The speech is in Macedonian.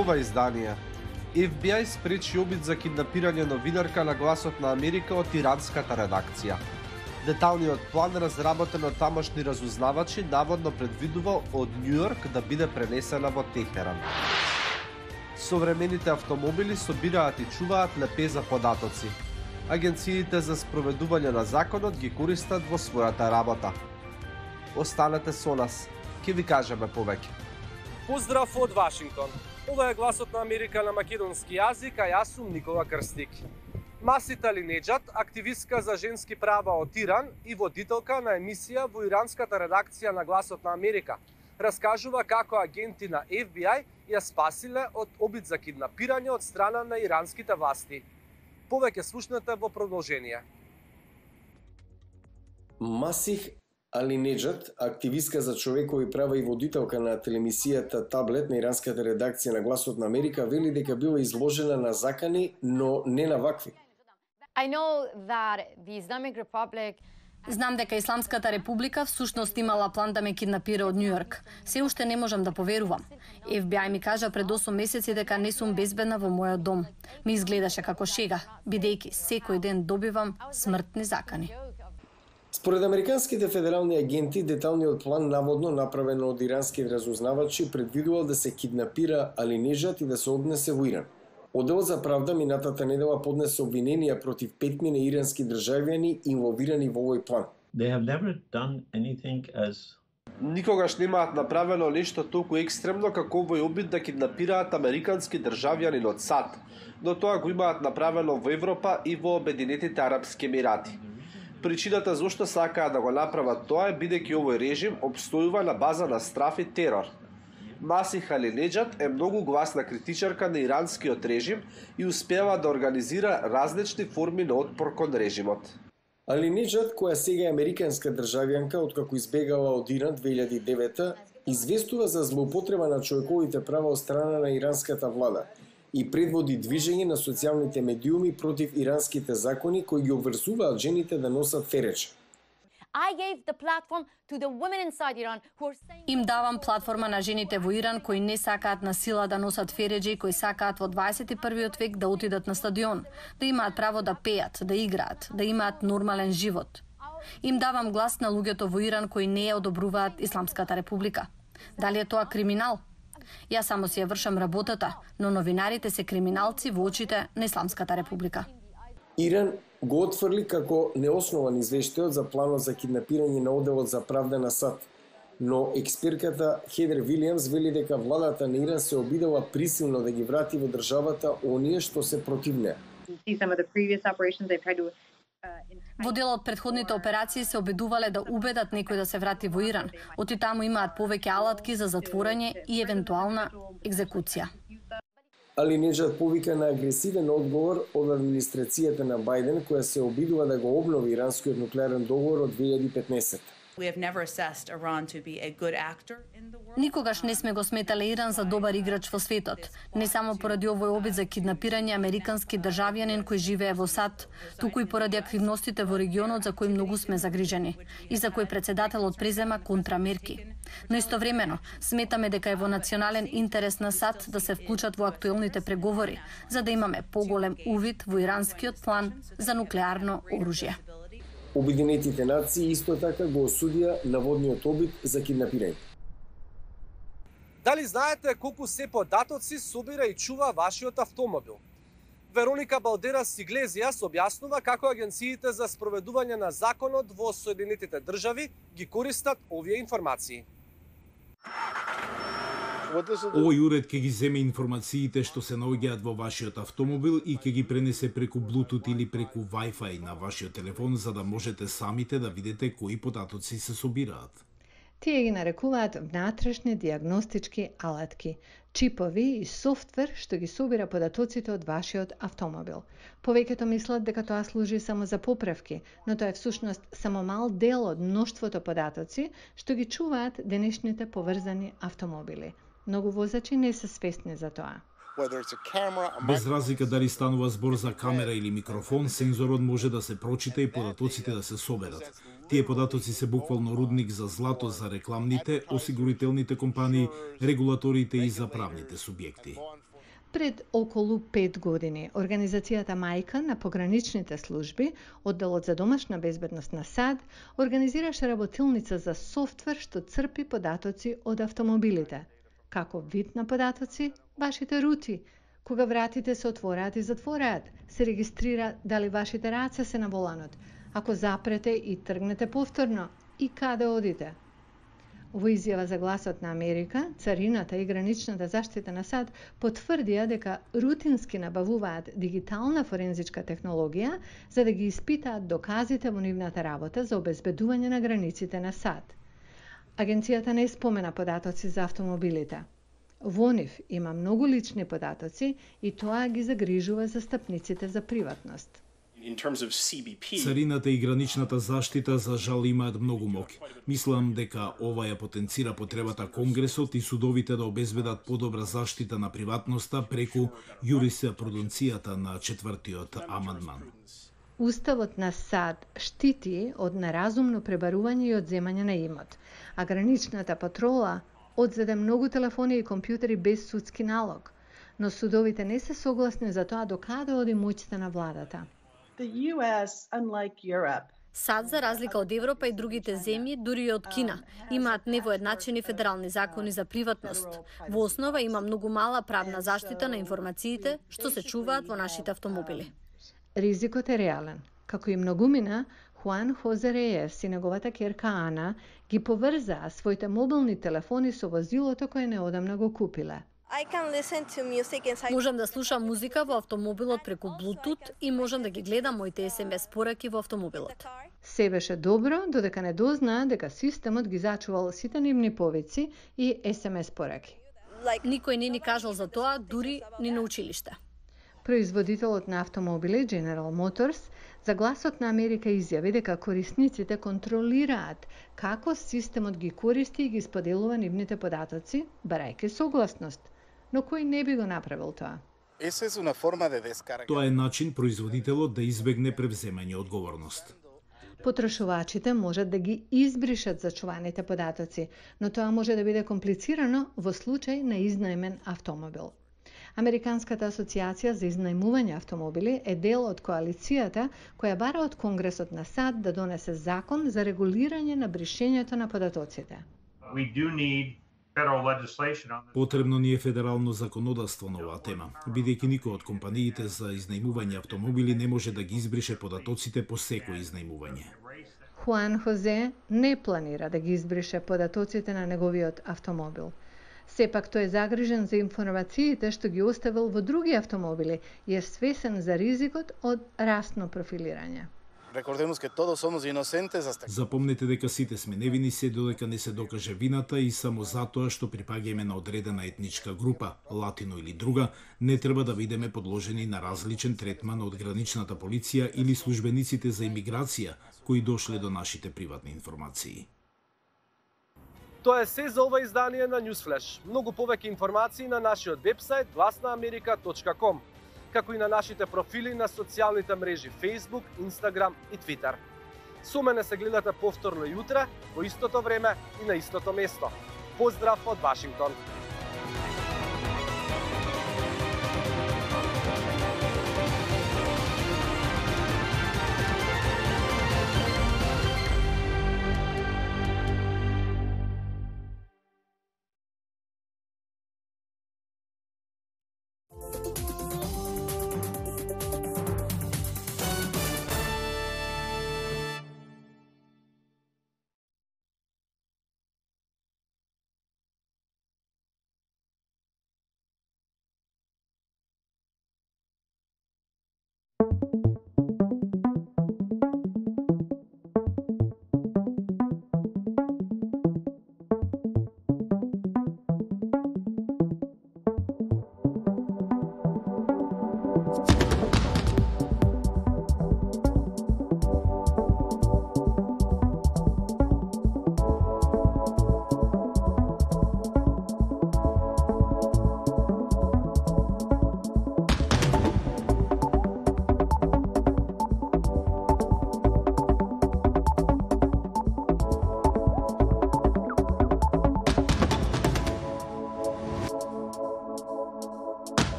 Во ова издание, FBI спречи обид за киднапирање новинарка на Гласот на Америка од иранската редакција. Деталниот план, разработен од тамошни разузнавачи, наводно предвидува од Њујорк да биде пренесена во Техеран. Современите автомобили собираат и чуваат лепеза податоци. Агенциите за спроведување на законот ги користат во својата работа. Останете со нас, ќе ви кажеме повеќе. Поздрав од Вашингтон. Ова е Гласот на Америка на македонски јазик, а јас сум Никола Крстик. Масита Алинеџад, активистка за женски права од Иран и водителка на емисија во иранската редакција на Гласот на Америка, раскажува како агенти на FBI ја спасиле од обид за киднапирање од страна на иранските власти. Повеќе слушнете во продолжение. Масих Алинеџад, активистка за човекови права и водителка на телемисијата Таблет на иранската редакција на Гласот на Америка, вели дека била изложена на закани, но не на вакви. Знам дека Исламската република всушност имала план да ме киднапира од Њујорк. Се уште не можам да поверувам. FBI ми кажа пред 8 месеци дека не сум безбедна во мојот дом. Ми изгледаше како шега, бидејќи секој ден добивам смртни закани. Според американските федерални агенти, деталниот план наводно направен од ирански разузнавачи предвидувал да се киднапира Алинеџад и да се однесе во Иран. Одделот за правда минатата недела поднесе обвиненија против 5 ирански државјани инволвирани во овој план. Никогаш немаат направено нешто толку екстремно како овој обид да киднапираат американски државјанин од САД, но тоа го имаат направено во Европа и во Обединетите арапски емирати. Причината зошто сакаат да го направат тоа е бидејќи овој режим обстојува на база на страф и терор. Масих Алинеџад е многу гласна критичарка на иранскиот режим и успева да организира различни форми на отпор кон режимот. Алинеџад, која сега е американска државјанка откако избегала од Иран 2009, известува за злоупотреба на човековите права од страна на иранската влада и предводи движење на социјалните медиуми против иранските закони кои ги обврзуваат жените да носат фереч. Им давам платформа на жените во Иран кои не сакаат на сила да носат фереџи, кои сакаат во 21 век да отидат на стадион, да имаат право да пеат, да играат, да имаат нормален живот. Им давам глас на луѓето во Иран кои не ја одобруваат Исламската република. Дали е тоа криминал? Јас само си ја вршам работата, но новинарите се криминалци во очите на Исламската република. Иран го отфрли како неоснован извештајот за планот за киднапирање на одделот за правда на САД, но експертката Хедер Вилијамс вели дека владата на Иран се обидела присилно да ги врати во државата оние што се против неа. Во дел од претходните операции се обидувале да убедат некој да се врати во Иран. Оти таму имаат повеќе алатки за затворање и евентуална екзекуција. Алинеџад повика на агресивен одговор од администрацијата на Бајден, која се обидува да го обнови иранскиот нуклеарен договор од 2015. Никогаш не сме го сметале Иран за добар играч во светот, не само поради овој обид за киднапирање американски државјанин кој живее во САД, туку и поради активностите во регионот за кои многу сме загрижени и за кои председателот презема контрамерки. Но истовремено сметаме дека е во национален интерес на САД да се вклучат во актуелните преговори, за да имаме поголем увид во иранскиот план за нуклеарно оружје. Обединетите нации исто така го осудија наводниот обид за киднапирање. Дали знаете колку се податоци собира и чува вашиот автомобил? Вероника Балдерас Иглезијас објаснува како агенциите за спроведување на законот во Соединетите држави ги користат овие информации. Овој уред ќе ги земе информациите што се наоѓаат во вашиот автомобил и ќе ги пренесе преку Bluetooth или преку Wi-Fi на вашиот телефон за да можете самите да видите кои податоци се собираат. Тие ги нарекуваат внатрешни диагностички алатки, чипови и софтвер што ги собира податоците од вашиот автомобил. Повеќето мислат дека тоа служи само за поправки, но тоа е всушност само мал дел од мноштвото податоци што ги чуваат денешните поврзани автомобили. Многу возачи не се свесни за тоа. Без разлика дали станува збор за камера или микрофон, сензорот може да се прочита и податоците да се соберат. Тие податоци се буквално рудник за злато за рекламните, осигурителните компании, регулаторите и за правните субјекти. Пред околу 5 години, организацијата Мајка на пограничните служби, одделот за домашна безбедност на САД, организираше работилница за софтвер што црпи податоци од автомобилите. Како вид на податоци? Вашите рути. Кога вратите се отвораат и затвораат, се регистрира дали вашите раце се на воланот, ако запрете и тргнете повторно, и каде одите. Во изјава за Гласот на Америка, Царината и граничната заштита на САД потврдија дека рутински набавуваат дигитална форензичка технологија за да ги испитаат доказите во нивната работа за обезбедување на границите на САД. Агенцијата не спомена податоци за автомобилите. Во нив има многу лични податоци и тоа ги загрижува застапниците за приватност. Царината и граничната заштита за жал имаат многу моќ. Мислам дека ова ја потенцира потребата Конгресот и судовите да обезбедат подобра заштита на приватноста преку юриспруденцијата на 4-тиот амандман. Уставот на САД штити од неразумно пребарување и одземање на имот, а граничната патрола одзеде многу телефони и компјутери без судски налог, но судовите не се согласни за тоа докаде оди моќта на владата. САД, за разлика од Европа и другите земји, дури и од Кина, имаат невоедначени федерални закони за приватност. Во основа има многу мала правна заштита на информациите што се чуваат во нашите автомобили. Ризикот е реален. Како и многумина, Хуан Хозе Реес и неговата ќерка Ана ги поврзаа своите мобилни телефони со возилото кое неодамна го купиле. Можам да слушам музика во автомобилот преку Bluetooth и можам да ги гледам моите SMS пораки во автомобилот. Се беше добро, додека не дознаа дека системот ги зачувал сите нивни повици и SMS пораки. Никој не ни кажал за тоа, дури ни на училиште. Производителот на автомобили General Motors за Гласот на Америка изјави дека корисниците контролираат како системот ги користи и ги споделува нивните податоци, барајќи согласност. Но кој не би го направил тоа? Тоа е начин производителот да избегне превземање одговорност. Потрошувачите можат да ги избришат зачуваните податоци, но тоа може да биде комплицирано во случај на изнаемен автомобил. Американската асоциација за изнајмување автомобили е дел од коалицијата која бара од Конгресот на САД да донесе закон за регулирање на бришењето на податоците. Потребно ни е федерално законодавство на оваа тема, бидејќи никој од компаниите за изнајмување автомобили не може да ги избрише податоците по секој изнајмување. Хуан Хозе не планира да ги избрише податоците на неговиот автомобил. Сепак тој е загрижен за информациите што ги оставил во други автомобили и е свесен за ризикот од расно профилирање. Запомнете дека сите сме невини се додека не се докаже вината и само затоа што припаѓаме на одредена етничка група, латино или друга, не треба да бидеме подложени на различен третман од граничната полиција или службениците за имиграција кои дошле до нашите приватни информации. Тоа е се за ова издание на Newsflash. Многу повеќе информации на нашиот вебсайт glasnaamerika.com, како и на нашите профили на социјалните мрежи Facebook, Instagram и Twitter. Со мене се гледате повторно јутре, во истото време и на истото место. Поздрав од Вашингтон!